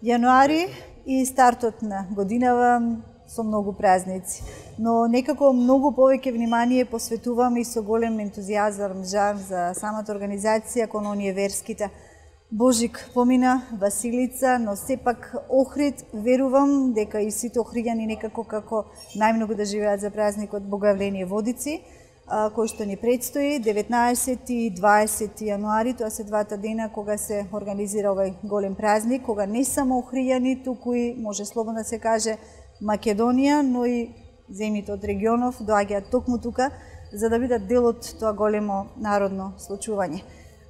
Јануари и стартот на годинава со многу празници, но некако многу повеќе внимание посветувам и со голем ентузијазам, жар за самата организација кон оние верските. Божик помина, Василица, но сепак Охрид, верувам дека и сите охриѓани некако како најмногу да живеат за празникот Богојавление Водици, кој што ни предстои 19 и 20 јануари, тоа се двата дена кога се организира овој голем празник, кога не само охријани, туку и може слободно да се каже Македонија, но и земјите од регионов доаѓаат токму тука за да бидат дел од тоа големо народно случување.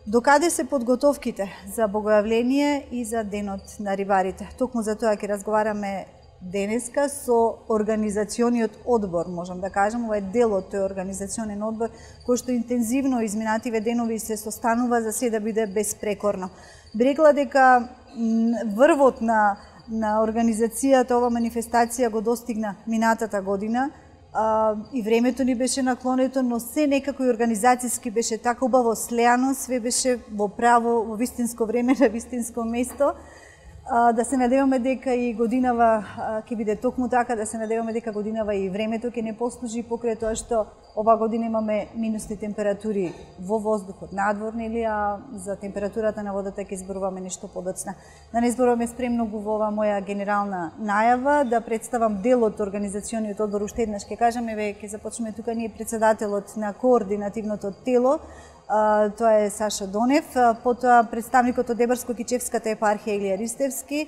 Докаде се подготовките за Богојавление и за денот на рибарите? Токму за тоа ќе разговараме денеска со организациониот одбор, можам да кажам, ова е дел од тој организационен одбор кој што интензивно изминативе денови се состанува за се да биде безпрекорно. Би рекла дека врвот на организацијата ова манифестација го достигна минатата година и времето ни беше наклонето, но се некако и организацијски беше така убаво слеано, све беше во право, во вистинско време, на вистинско место. Да се надеваме дека и годинава ќе биде токму така, да се надеваме дека годинава и времето ќе не послужи покрај тоа што ова година имаме минусни температури во воздухот надвор, нели, а за температурата на водата ќе зборуваме нешто подоцна. Да не зборуваме спремногу во ова моја генерална најава, да представам дел од организациониот одбор, уште еднаш ќе кажам, еве ќе започнеме тука ние председателот на координативното тело, тоа е Саша Донев, потоа представникот од Дебарско-Кичевската епархија Илија Ристевски,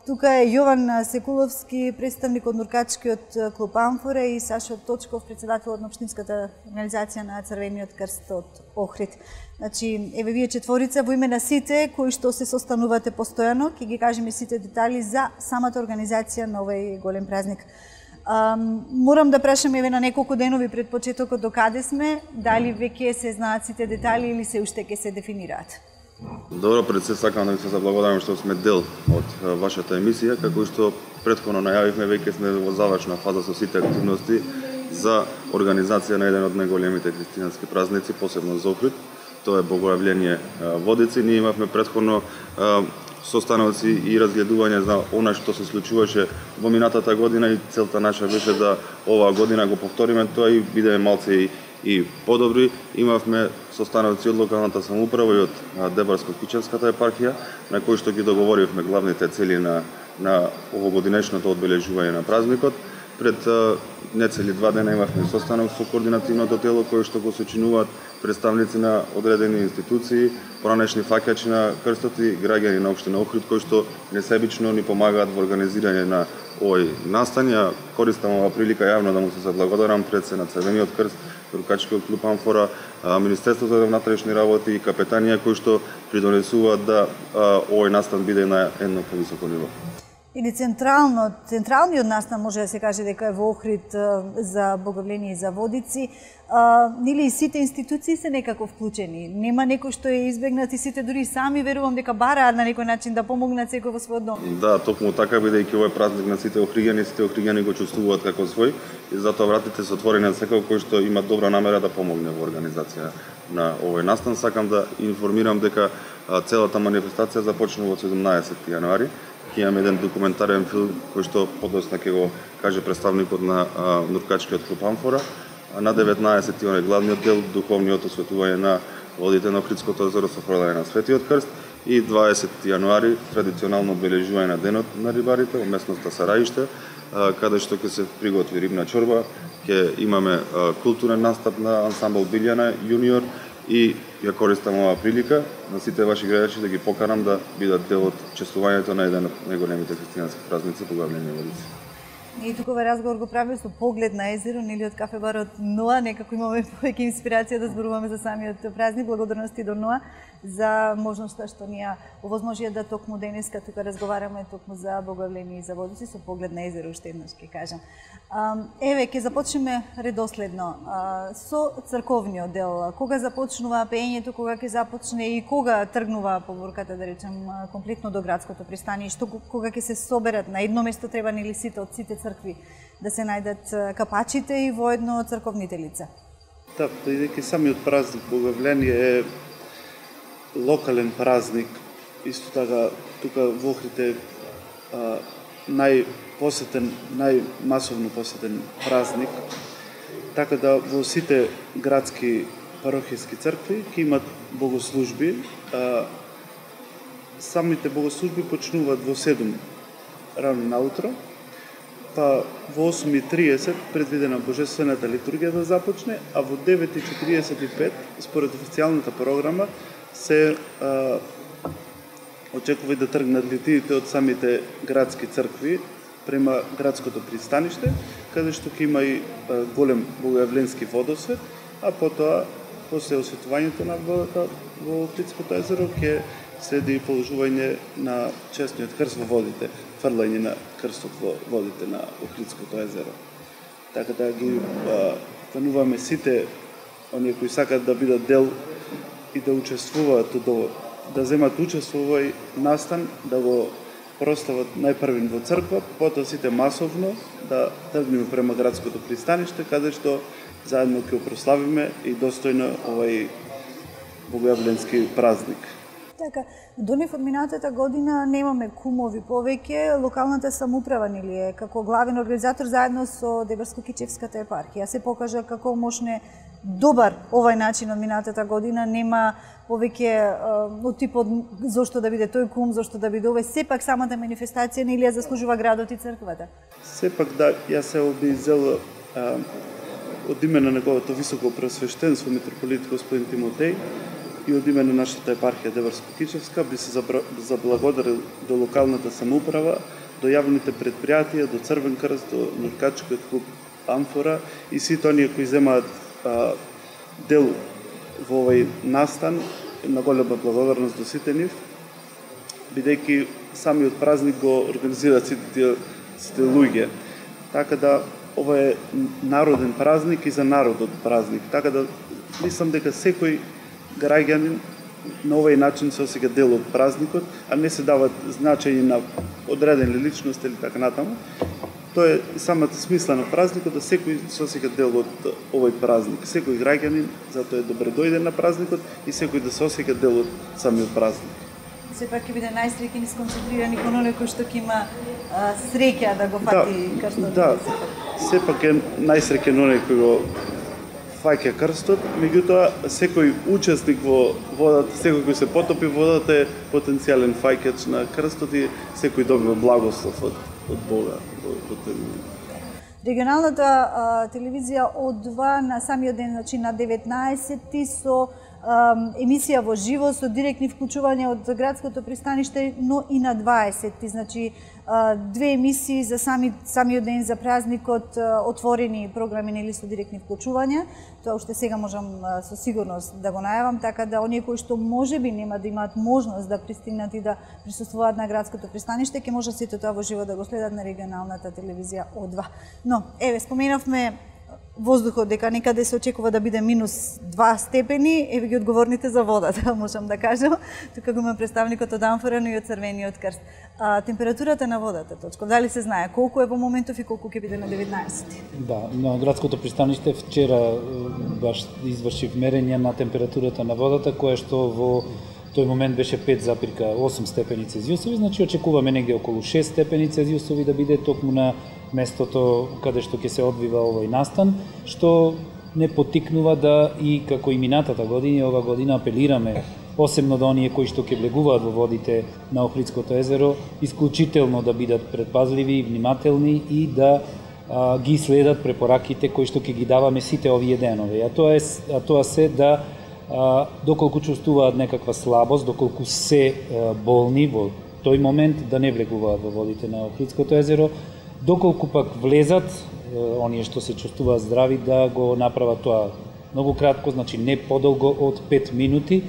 тука е Јован Секуловски, представник од Нуркачкиот клуб Амфора и Сашо Точков, председател од Општинската организација на Црвениот крст од Охрид. Значи, еве вие четворица во име на сите кои што се состанувате постојано, ќе ги кажеме сите детали за самата организација на овој голем празник. Морам да прашам еве на неколку денови пред почетокот до каде сме, дали веќе се знаат сите детали или се уште ќе се дефинираат? Добро, пред се сакам да ви се заблагодарам што сме дел од вашата емисија, како што претходно најавивме, веќе сме во завршна фаза со сите активности за организација на еден од најголемите христијански празници, посебно за Охрид. Тоа е Богојавление Водици. Ние имавме претходно состаноци и разгледување за она што се случуваше во минатата година и целта наша беше да оваа година го повториме тоа и бидеме малце и подобри. Имавме состаноци од локалната самоуправа и од Дебарско-Кичевската епархија, на кои што ги договоривме главните цели на овогодинешното одбележување на празникот. Пред нецели 2 дена имавме состанок со координативното тело кои што го сочинуваат представници на одредени институции, поранешни фаќачи на крстот и граѓани на општина Охрид кои што несебично ни помагаат во организирање на овој настан. Користам ова прилика јавно да му се заблагодарам пред се на Црвениот крст, Нуркачкиот клуб Амфора, Министерството за внатрешни работи и капетанија кои што придонесуваат да овој настан биде на едно повисоко ниво. Или централниот настан може да се каже дека е во Охрид за Богојавление и за Водици. Нели и сите институции се некако вклучени? Нема некој што е избегнат и сите дури сами верувам дека бараат на некој начин да помогнат секој во својот дом. Да, токму така, бидејќи овој празник на сите охриѓани го чувствуваат како свој и затоа вратите се отворени на секој кој што има добра намера да помогне во организација на овој настан. Сакам да информирам дека целата манифестација започнува од 17 јануари. Ќе имаме еден документарен филм кој што подоцна ќе го каже представникот на Нуркачкиот клуб Амфора. На 19-ти он е главниот дел, духовниот осветување на водите на Охридското езеро со фрлање на Светиот крст и 20 јануари традиционално обележување на денот на рибарите во местноста Сараиште, каде што ќе се приготви рибна чорба, ќе имаме културен настап на ансамбл Билјана јуниор и ја користам оваа прилика на сите ваши гледачи да ги поканам да бидат дел од чествувањето на еден од најголемите христијански празници Богојавление Водици. И тука овој разговор го правиме со поглед на езеро, нели од кафе барот Ноа, некако имаме повеќе инспирација да зборуваме за самиот празник. Благодарности до Ноа за можноста што ни ја овозможија да токму денеска тука разговараме токму за Богојавление и за Водици со поглед на езеро, уште еднаш ќе кажам. Еве, ќе започнеме редоследно со црковниот дел. Кога започнува пеењето, кога ќе започне и кога тргнува поборката, да речем, комплетно до градското пристаниште, кога ќе се соберат на едно место, треба нели сите од сите цркви да се најдат капачите и воедно црковните лица. Да, бидејќи самиот празник Богојавление е локален празник, исто така тука во Охрид најпосетен, најмасовно посетен празник, така да во сите градски парохијски цркви ќе имат богослужби. Самите богослужби почнуваат во 7 рано наутро, па во 8:30 предвидена божествената литургија да започне, а во 9:45 според официјалната програма се очекува да тргнат литиите од самите градски цркви према градското пристаниште, каде што ќе има и голем богојавленски водосвет, а потоа после осветувањето на водата во Охридското езеро ќе следи положување на честниот крст во водите, фрлање на крстот во водите на Охридското езеро. Така да ги кануваме сите оние кои сакаат да бидат дел и да учествуваат да земат учество во овој настан, да го прослават најпрвин во црква, потоа сите масовно да тргнеме према градското пристаниште, каде што заедно ќе прославиме и достојно овој богојавленски празник. Така, донев од минатата година немаме кумови повеќе, локалната самоуправа нели е како главен организатор заедно со Дебарско-Кичевската епархија се покажа како можне добар овај начин од минатата година, нема повеќе од типот зошто да биде тој кум, зошто да биде овој, сепак самата манифестација нели ја заслужува градот и црквата. Сепак да, јас се обизел од име на неговото високо пресвештенство митрополит господин Тимотеј и од име на нашата епархија Дебарско-Кичевска би се заблагодарил до локалната самоуправа, до јавните предпријатија, до Црвен крст, до Нуркачкиот клуб Амфора и сите оние кои земаат дел во овој настан, на голема благодарност до сите нив, бидејќи самиот празник го организираат сите луѓе. Така да ова е народен празник и за народот празник. Така да мислам дека секој граѓанин на овој начин се осеќа дел од празникот, а не се дават значење на одредени личности или така натаму. Тоа е самата смисла на празникот, да секој се осеќа дел од овој празник. Секој граѓанин, затоа е добре дојде на празникот и секој да се осеќа дел од самиот празник. Сепак ќе биде најсреќен и сконцентриран и кон оној кој што ќе има среќа да го фати крстот. Да, сепак е најсреќен оној кој го фаќа крстот, меѓутоа секој учесник во водата, секој кој се потопи во водата е потенцијален фаќач на крстот и секој добива благослов од Бога во тој момент. Регионалната телевизија од 2 на самиот ден, значи на 19 со емисија во живо со директни вклучувања од градското пристаниште, но и на 20, значи 2 емисии за самиот ден за празникот, отворени програми нели со директни вклучувања. Тоа уште сега можам со сигурност да го најавам, така да оние кои што можеби нема да имаат можност да пристигнат и да присуствуваат на градското пристаниште, ќе можат сите тоа во живо да го следат на регионалната телевизија од 2. Но, еве, споменавме воздухот, дека некаде се очекува да биде минус 2 степени, еве ги одговорните за водата, можам да кажам. Тука го има представникот од Амфора, но и од Црвениот крст. Температурата на водата, Точков, дали се знае колку е во моментов и колку ќе биде на 19? Да, на градското пристаниште вчера баш извршив мерење на температурата на водата, која што во тој момент беше 5,8 степени Целзиусови, значи очекуваме негде околу 6 степени Целзиусови да биде токму на местото каде што ќе се одвива овој настан, што не потикнува да и како и минатата година, ова година апелираме посебно до оние кои што ќе влегуваат во водите на Охридското езеро, исклучително да бидат предпазливи и внимателни и да ги следат препораките кои што ќе ги даваме сите овие денови. А тоа се да доколку чувствуваат некаква слабост, доколку се болни во тој момент да не влегуваат во водите на Охридското езеро, доколку пак влезат, оние што се чувствуваат здрави, да го направат тоа многу кратко, значи не подолго од 5 минути,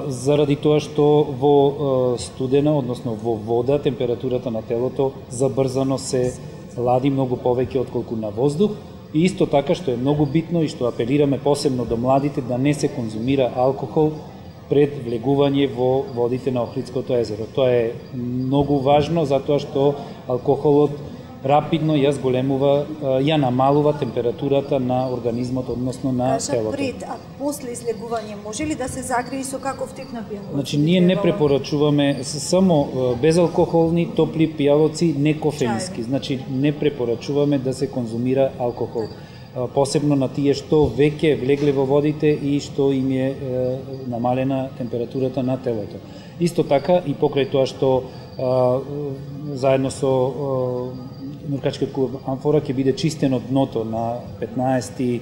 заради тоа што во студена, односно во вода, температурата на телото забрзано се лади многу повеќе отколку на воздух. И исто така што е многу битно и што апелираме посебно до младите да не се конзумира алкохол пред влегување во водите на Охридското езеро. Тоа е многу важно затоа што алкохолот рапидно ја зголемува, ја намалува температурата на организмот, односно на телото. Пред, а после излегување може ли да се загреи со каков тип на пијалоци? Значи, ние не препорачуваме само безалкохолни топли пијалоци, не кофеински. Значи, не препорачуваме да се конзумира алкохол. Посебно на тие што веќе влегле во водите и што им е намалена температурата на телото. Исто така и покрај тоа што заедно со Нуркачкиот клуб Амфора ќе биде чистено дното на 15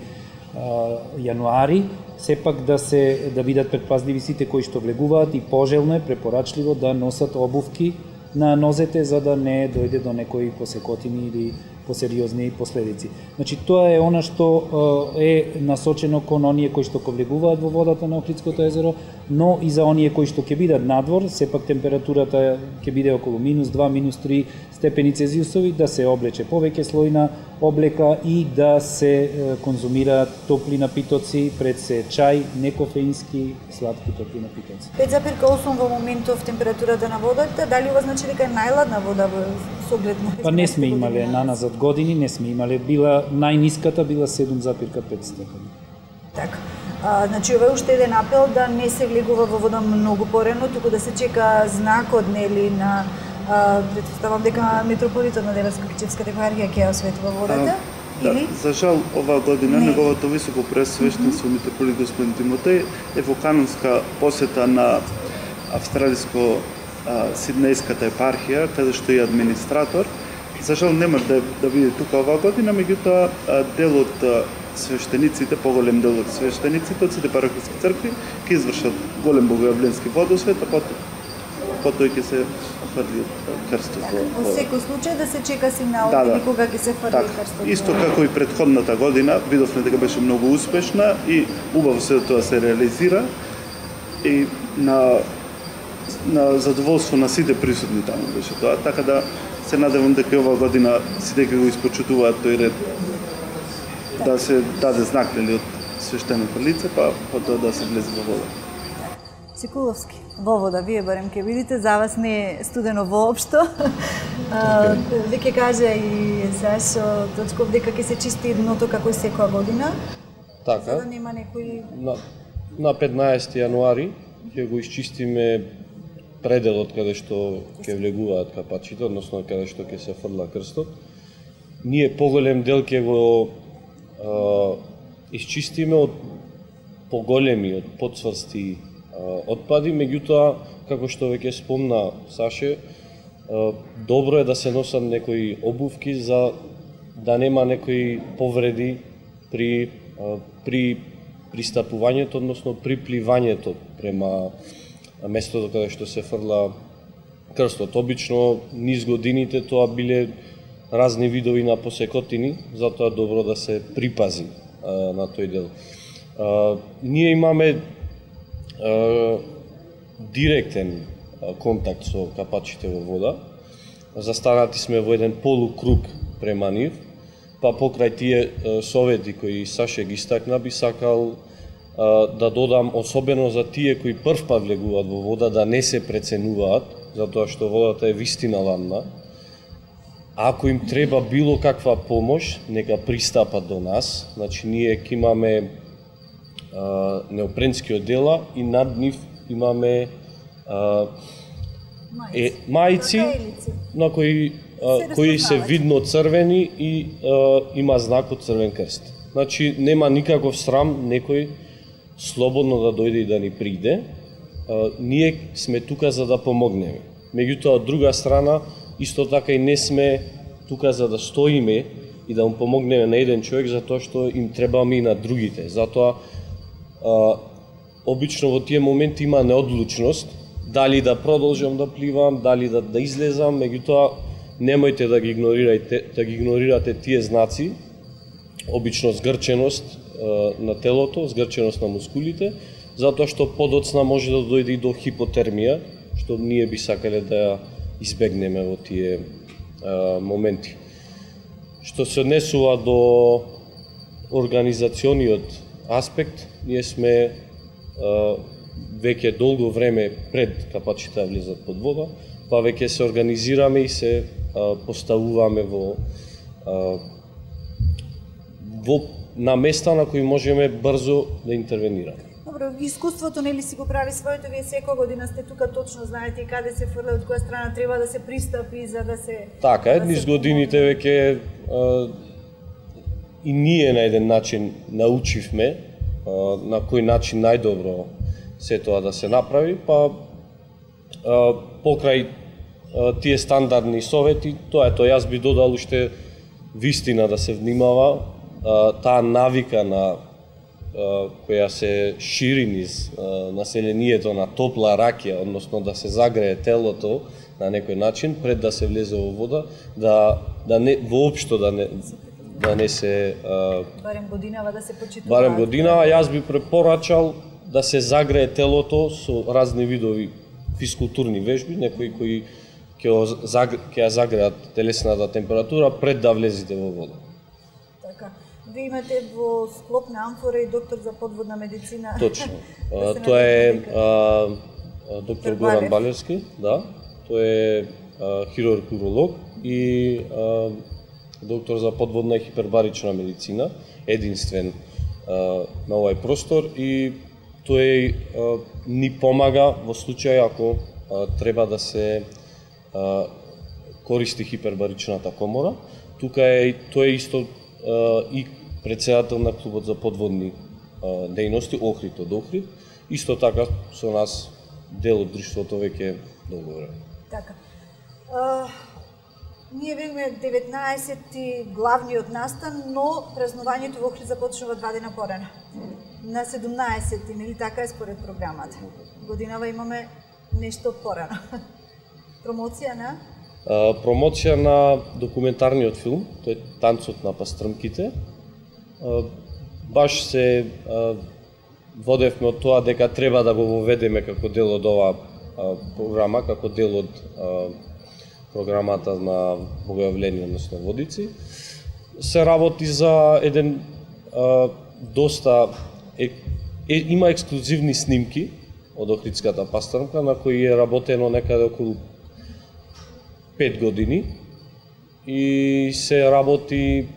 јануари, сепак да бидат предпазливи сите кои што влегуваат и пожелно е, препорачливо да носат обувки на нозете за да не дојде до некои посекотини или посериозни последици. Значи, тоа е она што е насочено кон оние кои што влегуваат во водата на Охридското езеро, но и за оние кои што ќе бидат надвор, сепак температурата ќе биде околу -2, -3 степени Целзиусови, да се облече повеќе слојна облека и да се конзумираат топли напитоци, пред се чај, некофеински, сладки топли напитоци. 5,8 во моментов температурата на водата, дали ова значи дека е најладна вода со оглед на... Па не сме имале наназад години, не сме имале, била најниската била 7,5 степени. Така. Значи, ова е уште еден апел да не се влегува во вода многу порано, туку да се чека знакот, нели, на претпоставам дека Метрополитен на Деварско-Кичевската епархија ќе ја осветува водата. Да, за жал оваа година неговото високо пресвештенство митрополит господин Тимотеј е во канонска посета на австралиско-сиднејската епархија, каде што е администратор. За жал нема да биде тука оваа година, меѓутоа дел од свештениците, поголем дел од свештениците од сите парохиски цркви ќе извршат голем богојавленски водосвет, а потоа ќе се фрли крстот во секој случај да се чека сигнал или кога ќе се фрли крстот. Исто како и претходната година, видовме дека беше многу успешна и убаво се тоа се реализира и на задоволство на сите присутни таму беше тоа, така да се надевам дека оваа година сите ќе го испочитуваат тој ред да се даде знак од свештеното лице, па потоа да се влезе во вода. Цикуловски, во вода, вие барем ќе видите, за вас не е студено воопшто. Веќе кажа и Сашо Точков дека ќе се чисти дното како и секоја година. Така. За да нема некои... На 15 јануари ќе го изчистиме пределот каде што ќе влегуваат капачите, односно каде што ќе се фрла крстот. Ние поголем дел ќе го изчистиме од поголеми, од подсврсти отпади, меѓутоа, како што веќе спомна Саше, добро е да се носат некои обувки за да нема некои повреди при пристапувањето, односно при пливањето према местото каде што се фрла крстот. Обично низ годините тоа биле разни видови на посекотини, затоа добро да се припази на тој дел. Ние имаме директен контакт со капачите во вода. Застанати сме во еден полукруг према нив, па покрај тие совети кои Саше ги стакна, би сакал да додам особено за тие кои прв пат влегуваат во вода да не се преценуваат, затоа што водата е вистина ладна. Ако им треба било каква помош, нека пристапат до нас. Значи, ние ќе имаме неопренски одела и над нив имаме мајци на кои се видно црвени и има знак од Црвен крст. Значи, нема никаков срам некој слободно да дојде и да ни приде. Ние сме тука за да помогнеме. Меѓутоа, од друга страна, исто така и не сме тука за да стоиме и да му помогнеме на еден човек, затоа што им требаме и на другите. Затоа, обично во тие моменти има неодлучност, дали да продолжам да пливам, дали да излезам, меѓутоа немојте да ги игнорирате тие знаци, обично згрченост на телото, згрченост на мускулите, затоа што подоцна може да дојде и до хипотермија, што ние би сакале да ја избегнеме во тие моменти. Што се однесува до организациониот аспект, ние сме веќе долго време пред капачите да влезат под вода, па веќе се организираме и се поставуваме на места на кои можеме брзо да интервенираме. Добро, искуството нели си го прави своето, вие секоја година сте тука, точно знаете и каде се фрла, од која страна треба да се пристапи за да се... Така е, низ годините веќе и ние на еден начин научивме на кој начин најдобро се тоа да се направи, па покрај тие стандардни совети, тоа е тоа. Јас би додал уште вистина да се внимава, таа навика на која се шири низ населението на топла ракија, односно да се загрее телото на некој начин пред да се влезе во вода, да не воопшто да не се барем годинава да се почитува. Барем годинава, јас би препорачал да се загрее телото со разни видови физкултурни вежби, некои кои ќе ја загреат телесната температура пред да влезете во вода. Така. Вие имате во склоп на амфора и доктор за подводна медицина. Точно. Тоа е доктор Горан Балевски, да. Тој е хирург-уролог и доктор за подводна и хипербарична медицина, единствен на овој простор, и тој ни помага во случај ако треба да се користи хипербаричната комора. Тука е тој исто и председател на клубот за подводни дејности Охрид од Охрид. Исто така со нас дел од друштвото веќе долго време. Така. Ние бевме 19-ти главниот настан, но празнувањето во Охрид започнува 2 дена порано. На 17-ти, нели така е според програмата. Годинава имаме нешто порано. Промоција на? Промоција на документарниот филм, тој е Танцот на пастрмките. Баш се водевме од тоа дека треба да го воведеме како дел од оваа програма, како дел од програмата на Богојавление, односно Водици. Се работи за еден доста има ексклузивни снимки од Охридската пастрмка на кои е работено некаде околу 5 години и се работи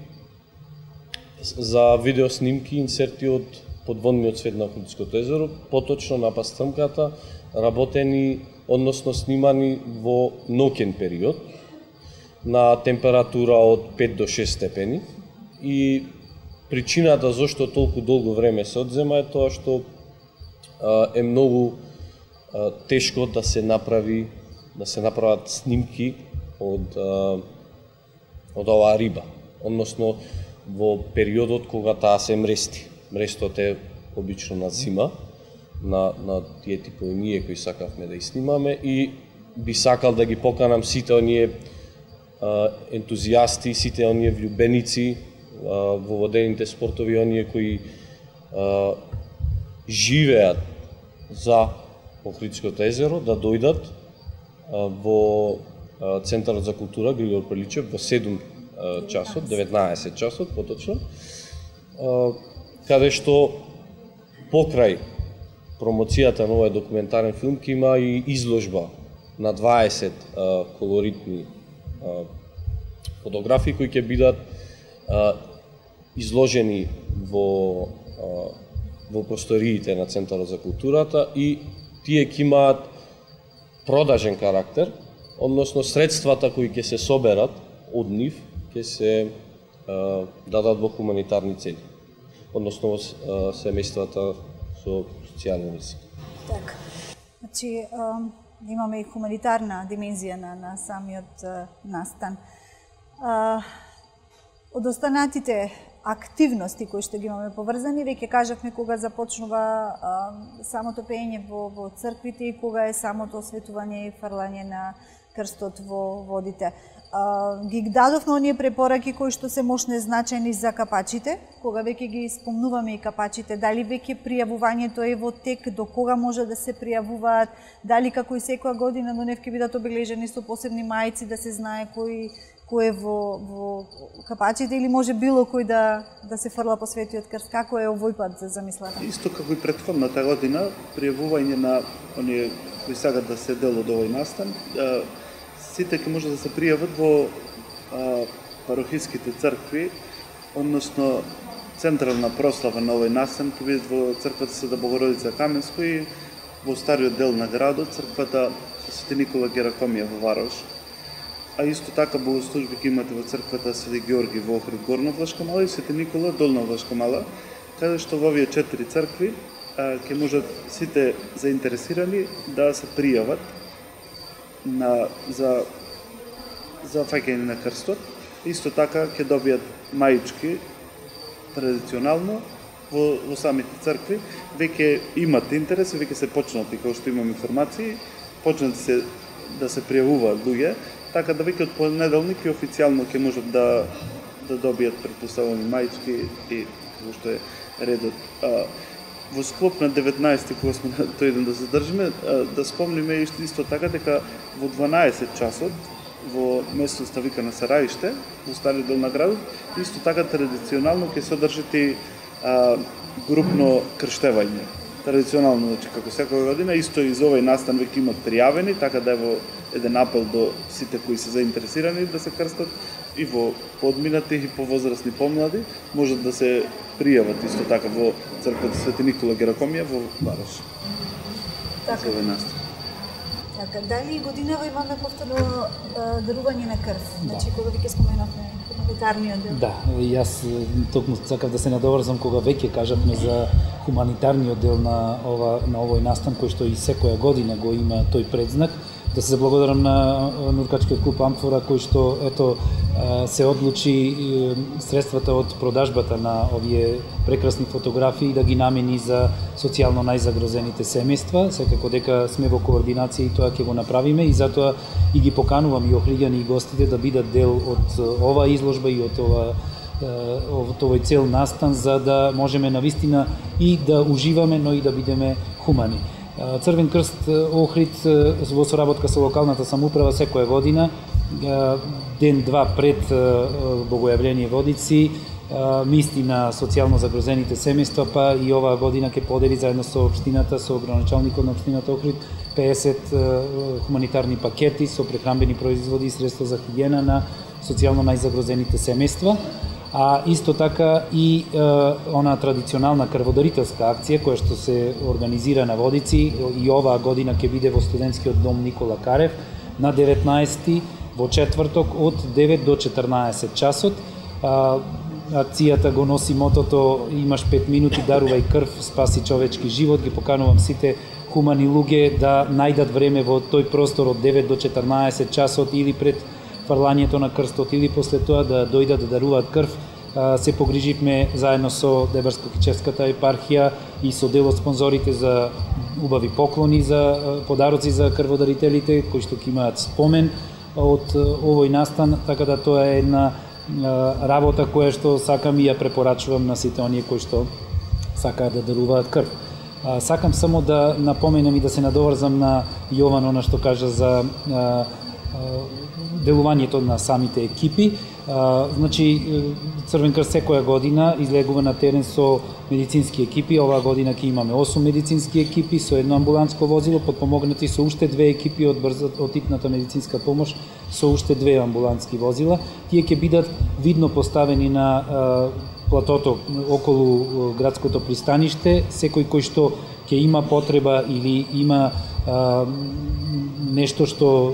за видеоснимки, инсерти од подводниот свет на Охридското езеро, поточно на пастрмката, работени, односно снимани во ноќен период, на температура од 5 до 6 степени. И причината зашто толку долго време се одзема е тоа што е многу тешко да се направат снимки од оваа риба, односно во периодот кога таа се мрести. Мрестот е обично на зима, на тие типови ние кои сакавме да ги снимаме, и би сакал да ги поканам сите оние ентузијасти, сите оние влюбеници во водените спортови, оние кои живеат за Охридското езеро, да дојдат во Центарот за култура Григор Пеличев во 7 часот, 19 часот поточно, каде што покрај промоцијата на овој документарен филм ќе има и изложба на 20 колоритни фотографии кои ќе бидат изложени во просториите на Центарот за културата, и тие ќе имаат продажен карактер, односно средствата кои ќе се соберат од нив ќе се дадат во хуманитарни цели, односно во семејствата со социјален риск. Така. Значи, имаме и хуманитарна димензија на самиот настан. Од останатите активности кои што ги имаме поврзани, веќе кажавме кога започнува самото пеење во црквите и кога е самото осветување и фрлање на крстот во водите. Ги дадовме оние препораки кои што се можне значајни за капачите, кога веќе ги спомнуваме и капачите, дали веќе пријавувањето е во тек, до кога може да се пријавуваат, дали како и секоја година но нев ќе бидат обележени со посебни мајци да се знае кој е во капачите, или може било кој да се фрла по светиот крст. Како е овој пат замислата? Исто како и претходната година, пријавување на оние кои сакат да се дел од овој настан, сите ќе може да се пријават во парохиските цркви, односно централна прослава на овој настан ќе биде во црквата Света Богородица Каменско и во стариот дел на градот, црквата Свети Никола Геракомија во Варош. А исто така богослужби ќе имате во црквата Свети Георги во Охрид Горна Влашка мала и Свети Никола Долна Влашка мала, каде што во овие 4 цркви ќе можат сите заинтересирани да се пријават за фаќање на крстот. Исто така ќе добијат маички традиционално во самите цркви. Веќе имат интерес, веќе се почнати, како што имам информации, почнати се да се пријавуваат луѓе, така да веќе од понеделник и официјално ќе можат да добијат претпоставени маички и како што е редот. Во склоп на 19-ти, кога сме на тој ден да се држиме, да спомниме исто така дека во 12 часот во местноста викана Сараиште, во стариот дел на градот, исто така традиционално ќе се одржи групно крштевање. Традиционално, значи, како секоја година, исто и за овој настан веќе имат пријавени, така да е во еден апел до сите кои се заинтересирани да се крстат и во подминати и повозрасни помлади, можат да се пријават исто така во црквата Свети Никола Геракомија во Варош. Така. За овој настан. Така, дали годинава имаме повторно дарување на крв? Значи, кога веќе споменавме хуманитарниот дел. Да, јас токму сакав да се надоврзам кога веќе кажавме за хуманитарниот дел на овој настан кој што и секоја година го има тој предзнак. Да се заблагодарам на Нуркачкиот клуб Амфора кој што се одлучи средствата од продажбата на овие прекрасни фотографии да ги намени за социјално најзагрозените семејства. Секако дека сме во координација и тоа ќе го направиме и затоа и ги поканувам и охриѓани и гостите да бидат дел од оваа изложба и од овој цел настан за да можеме навистина и да уживаме, но и да бидеме хумани. Црвен крст Охрид во соработка со локалната самоуправа секоја година, ден-два пред Богојавление Водици, мисли на социјално загрозените семејства, па и оваа година ќе подели заедно со општината, со градоначалникот на општината Охрид, 50 хуманитарни пакети со прехранбени производи и средства за хигиена на социјално најзагрозените семејства. А исто така и она традиционална крводарителска акција која што се организира на Водици и оваа година ќе биде во студентскиот дом Никола Карев на 19 во четврток од 9 до 14 часот. Акцијата го носи мотото имаш 5 минути, дарувај крв, спаси човечки живот. Ги поканувам сите хумани луѓе да најдат време во тој простор од 9 до 14 часот или пред фрлањето на крстот или после тоа да дојдат да даруваат крв. Се погриживме заедно со Дебарско-Кичевската епархија и со дел од спонзорите за убави поклони, за подароци за крводарителите кои што ќе имаат спомен од овој настан, така да тоа е една работа која што сакам и ја препорачувам на сите оние кои што сакаат да даруваат крв. Сакам само да напоменам и да се надоврзам на Јован она што кажа за делувањето на самите екипи. Значи, Црвен крст секоја година излегува на терен со медицински екипи. Оваа година ќе имаме 8 медицински екипи со едно амбуланско возило, потпомогнати со уште 2 екипи од типната медицинска помош, со уште 2 амбулански возила. Тие ќе бидат видно поставени на платото околу градското пристаниште. Секој кој што ќе има потреба или има нешто што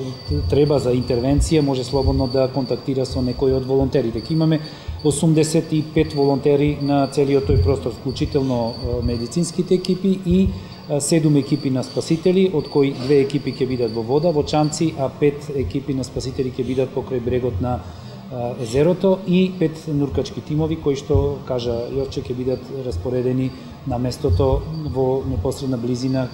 треба за интервенција, може слободно да контактира со некој од волонтерите. Ке имаме 85 волонтери на целиот тој простор, вклучително медицинските екипи и 7 екипи на спасители, од кои 2 екипи ќе бидат во вода, во чамци, а 5 екипи на спасители ќе бидат покрај брегот на езерото и 5 нуркачки тимови кои што, кажа Јовче, ќе бидат распоредени на местото во непосредна близина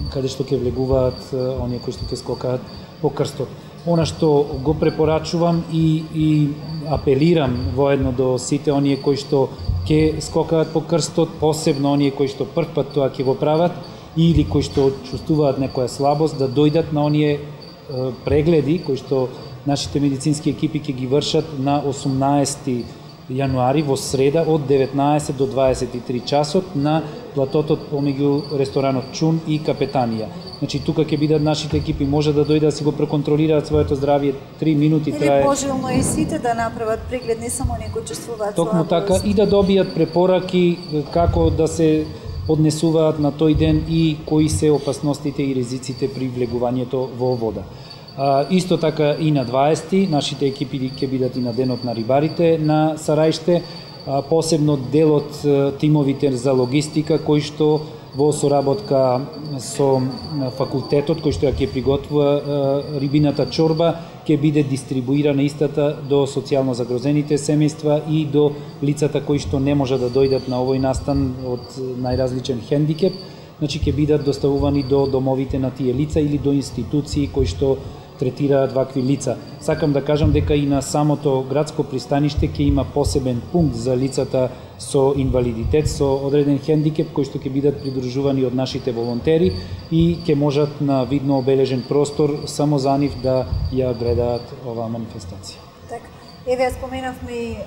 каде што ќе влегуваат оние кои што ќе скокаат по крстот. Она што го препорачувам и апелирам воедно до сите оние кои што ќе скокаат по крстот, посебно оние кои што прв пат тоа ќе го прават или кои што чувствуваат некоја слабост, да дојдат на оние прегледи кои што нашите медицински екипи ќе ги вршат на 18 јануари во среда од 19 до 23 часот на платото помеѓу ресторанот Чун и Капетанија. Значи тука ќе бидат нашите екипи, може да дојдат да си го преконтролираат своето здравје, 3 минути трае. Или пожелно и сите да направат преглед, не само некои учествуваат. Токму така и да добијат препораки како да се однесуваат на тој ден и кои се опасностите и ризиците при влегувањето во вода. Исто така и на 20 нашите екипи ќе бидат и на денот на рибарите на Сарајште, посебно делот тимовите за логистика кои што во соработка со факултетот кој што ја ќе приготвува рибината чорба ќе биде дистрибуирана истата до социјално загрозените семејства и до лицата кои што не може да дојдат на овој настан од најразличен хендикеп, значи ќе бидат доставувани до домовите на тие лица или до институции кои што третираат вакви лица. Сакам да кажам дека и на самото градско пристаниште ќе има посебен пункт за лицата со инвалидитет, со одреден хендикеп, кои што ќе бидат придружувани од нашите волонтери и ќе можат на видно обележен простор само за нив да ја гледаат оваа манифестација. Така. Еве, ја споменавме и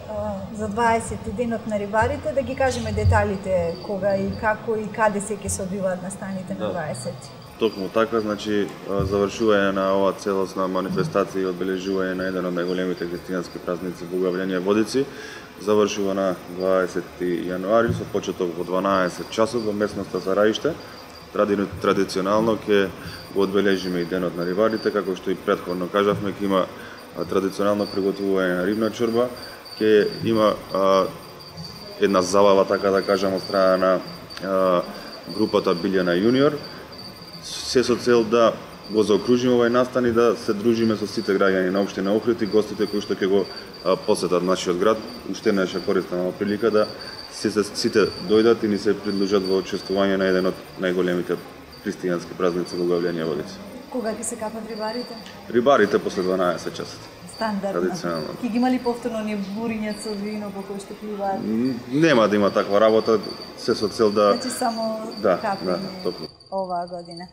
за 20 денот на рибарите, да ги кажеме деталите кога и како и каде се ќе се одвиваат настаните на 20. Токму така, значи завршување на оваа целосна манифестација и одбележување на еден од најголемите христијански празници Богојавление Водици завршува на 20 јануари со почеток во 12 часот во местноста Сарајште. Традиционално ќе го одбележиме и денот на рибарите, како што и претходно кажавме, ќе има традиционално приготвување на рибна чорба, ќе има една забава, така да кажам, од страна на групата Билјана Јуниор, се со цел да го заокружиме овој настан и да се дружиме со сите граѓани на општина Охрид и гостите кои што ќе го посетат нашиот град. Уште една користна прилика да сите дојдат и ни се придружат во учествување на еден од најголемите христијански празници Богојавление Водици. Кога ќе се капат рибарите? Рибарите после 12 часот. Стандардно. Традиционално. Ќе ги има ли повторно ни буриња со вино по кој што пливаат? Нема да има таква работа, се со цел да... Значи само капење оваа година.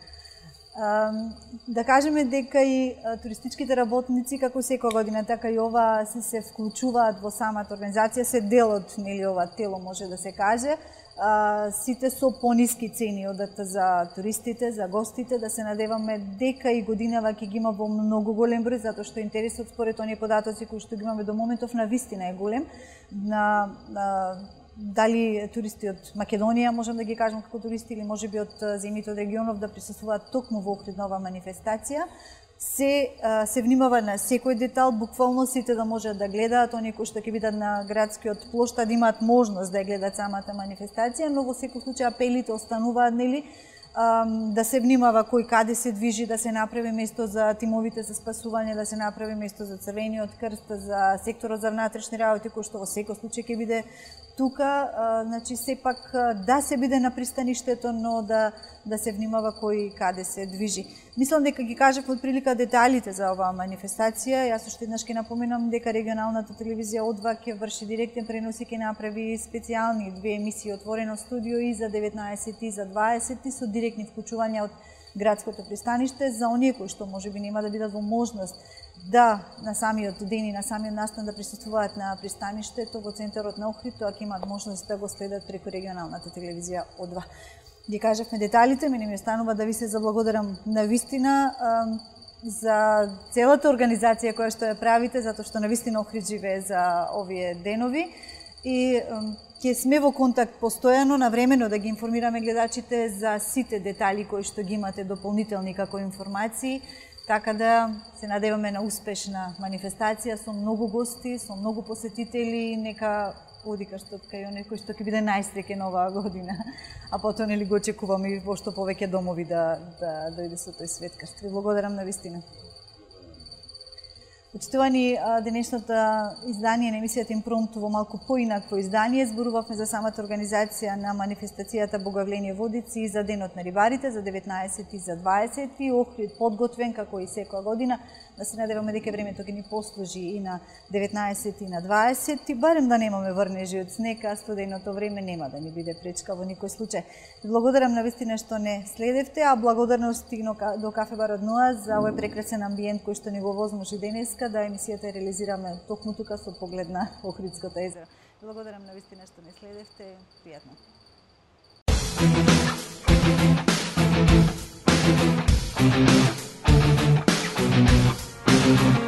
Да кажеме дека и туристичките работници, како секоја година, така и ова се вклучуваат во самата организација, се дел од ова тело, може да се каже. Сите со пониски цени одат за туристите, за гостите, да се надеваме дека и годинава ќе ги има во многу голем број, затоа што интересот според оние податоци кои што ги имаме до моментов на вистина е голем. Дали туристи од Македонија, можам да ги кажам како туристи, или можеби од земјите од регионов да присуствуваат токму во Охрид на оваа манифестација. Се внимава на секој детал, буквално сите да можат да гледаат, оние кои што ќе бидат на градскиот плоштад да имаат можност да ја гледат самата манифестација, но во секој случај апелите остануваат, нели, да се внимава кој каде се движи, да се направи место за тимовите за спасување, да се направи место за Црвениот крст, за секторот за внатрешни работи, кој што во секој случај ќе биде тука, значи сепак да се биде на пристаништето, но да се внимава кој каде се движи. Мислам дека ги кажав од прилика деталите за оваа манифестација. Јас уште еднаш ќе напоменам дека регионалната телевизија О2 ќе врши директен пренос и ќе направи специјални 2 емисии отворено студио и за 19 и за 20 со директни вклучувања од градското пристаниште за оние кои што можеби нема да бидат во можност да на самиот ден и на самиот настан да присуствуваат на пристаништето во центарот на Охрид, тоа ќе имаат можност да го следат преку регионалната телевизија О2. Ги кажавме деталите, мене ми останува да ви се заблагодарам на вистина за целата организација која што ја правите, затоа што на вистина Охрид живее за овие денови и ќе сме во контакт постојано, навремено да ги информираме гледачите за сите детали кои што ги имате дополнителни како информации, така да се надеваме на успешна манифестација со многу гости, со многу посетители, нека оди кај оној кој што ќе биде најсреќен оваа година, а потоа нели го очекуваме и во што повеќе домови да дојде со тој светкаст. Ви благодарам на вистина. Почитувани, денешното издание на емисијата Импромт во малку поинакво издание зборувавме за самата организација на манифестацијата Богојавление Водици и за денот на рибарите за 19 и за 20 и Охрид подготвен како и секоја година. Да се надеваме дека времето ќе ни послужи и на 19 и на 20 и барем да немаме врнежи од снег, а студеното време нема да ни биде пречка во никој случај. Благодарам на вистина што не следевте, а благодарност до Кафе Бар од Ноа за овој прекрасен амбиент кој што ни го возможи денес. денеска да емисијата реализираме токму тука со поглед на Охридското езеро. Благодарам на вистина што не следевте. Пријатно. Thank you.